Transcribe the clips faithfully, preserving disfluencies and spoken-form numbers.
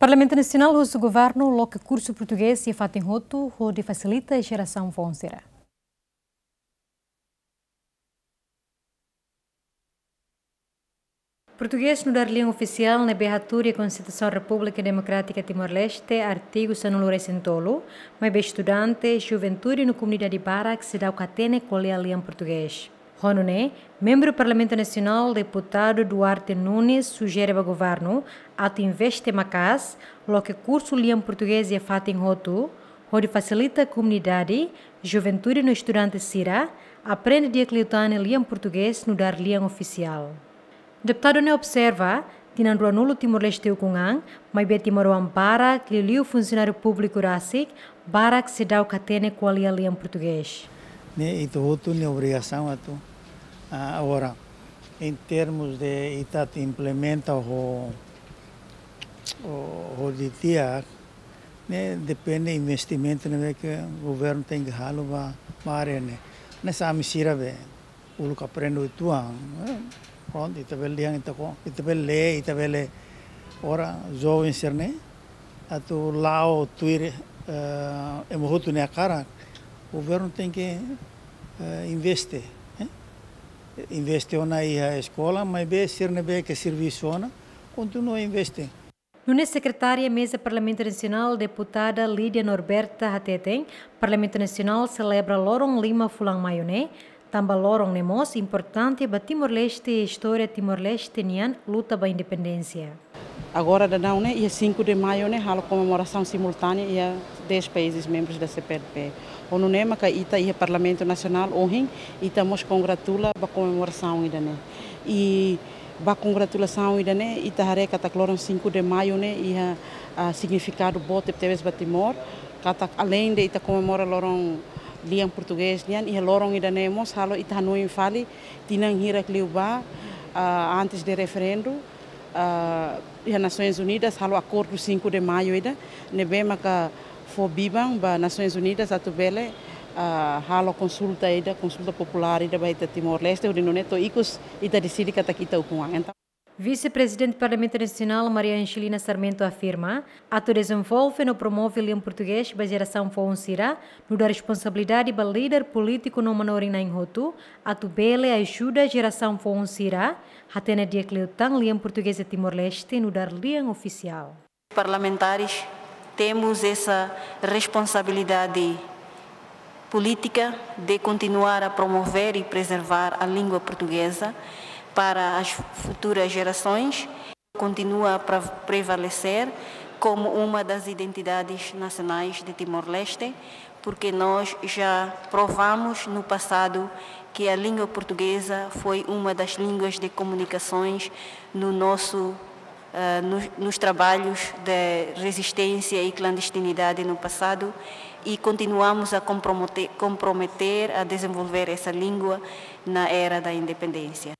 Parlamentu Nasionál husu governu loke kursu portugés iha fatin hotu hodi fasilita jerasaun foun sira. Portugés nu'udar lian ofisiál ne'ebé hatudu iha Konstituisaun Repúblika Demokrátika Timor-Leste, artigu sanulu-resin-tolu, maibé estudante, juventude no komunidade barak seidauk hatene ko'alia lian portugés. Ho nune'e, membru Parlamentu Nasionál, Deputadu Duarte Nunes, sujere ba governu atu investe maka'as loke kursu lian portugés iha fatin hotu, hodi fasilita komunidade, juventude no estudante sira aprende di'ak liután lian portugés nu'udar lian ofisiál. Deputadu ne'e observa, tinan ruanulu Timor-Leste ukun an, maibé timoroan barak, liuliu funsionáriu públiku rasik, barak seidauk hatene ko'alia lian portugés. Ne'e ita hotu nia obrigasaun atu, ah, agora, em termos de ita atu implementa ho, ho, ho di'ak, ne'e depende investimentu ne'ebé ke governu tenke halo ba, ba área ne'e. Hanesan ami sira be uluk aprende uitoan, eh, prontu, ita bele dehan, ita ko, ita bele lee, ita bele, agora joven sira-ne'e atu la'o tuir, eh, ema hotu nia hakarak, governu tenke, eh, investe, eh? Investe ona iha eskola, maibé sira ne'ebé ke servisu ona, kontinua investe. Nune'e sekretária Meza Parlamentu Nasionál, Deputada Lídia Norberta hateten, Parlamentu Nasionál selebra loron lima fulan maiu ne'e, tanba loron ne'e mós importante ba Timor-Leste, istória Timor-Leste nian luta ba independénsia. Agora daudaun ne'e, iha cinco de maio ne'e, halo komemorasaun simultánea iha dez países membros da C P L P. Ho nune'e maka ita iha Parlamentu Nasionál ohin, ita mós kongratula ba komemorasaun ida-ne'e. I ba kongratulasaun ida-ne'e, ita haree katak loron cinco de maio ne'e iha, ah, signifikadu boot tebetebes ba Timor, katak aleinde ita komemora loron lian portugés nian, iha loron ida-ne'e mós halo ita hanoin fali tinan hirak liu ba, ah, antes de referendu, ah, iha Nasoins Unidas halo akordu cinco de maio ida, ne'ebé maka fó biban ba Nasoins Unidas atu bele, ah, halo konsulta ida, konsulta populár ida ba ita Timor-Leste, hodi nune'e to'o ikus ita deside katak ita ukun an. Entaun, Vise-Prezidente Parlamentu Nasionál Maria Angelina Sarmento afirma, atu dezenvolve no promove lian portugés ba jerasaun foun sira, nu'udar responsabilidade ba líder polítiku no manorin na'in hotu, atu bele ajuda jerasaun foun sira hatene di'ak liután lian portugés iha Timor-Leste nu'udar lian ofisiál. Parlamentares temos essa responsabilidade política de continuar a promover e preservar a língua portuguesa para as futuras gerações. Continua a pre-, prevalecer como uma das identidades nacionais de Timor-Leste, porque nós já provamos no passado que a língua portuguesa foi uma das línguas de comunicações no nosso, eh, nos, nos trabalhos de resistência e clandestinidade no passado, e continuamos a compromete-, comprometer a desenvolver essa língua na era da independência.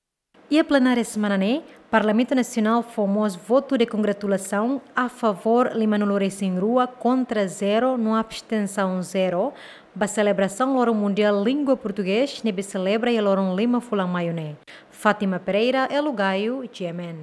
Iha plenária semana ne'e, Parlamentu Nasionál fó mós votu de kongratulasaun a favór limanulu-resin-rua, kontra zero no abstensaun zero, ba selebrasaun Loron Mundiál Língua Portugés ne'ebé selebra iha loron lima fulan maiu ne'e. Fátima Pereira, Elo Gaio, G M N.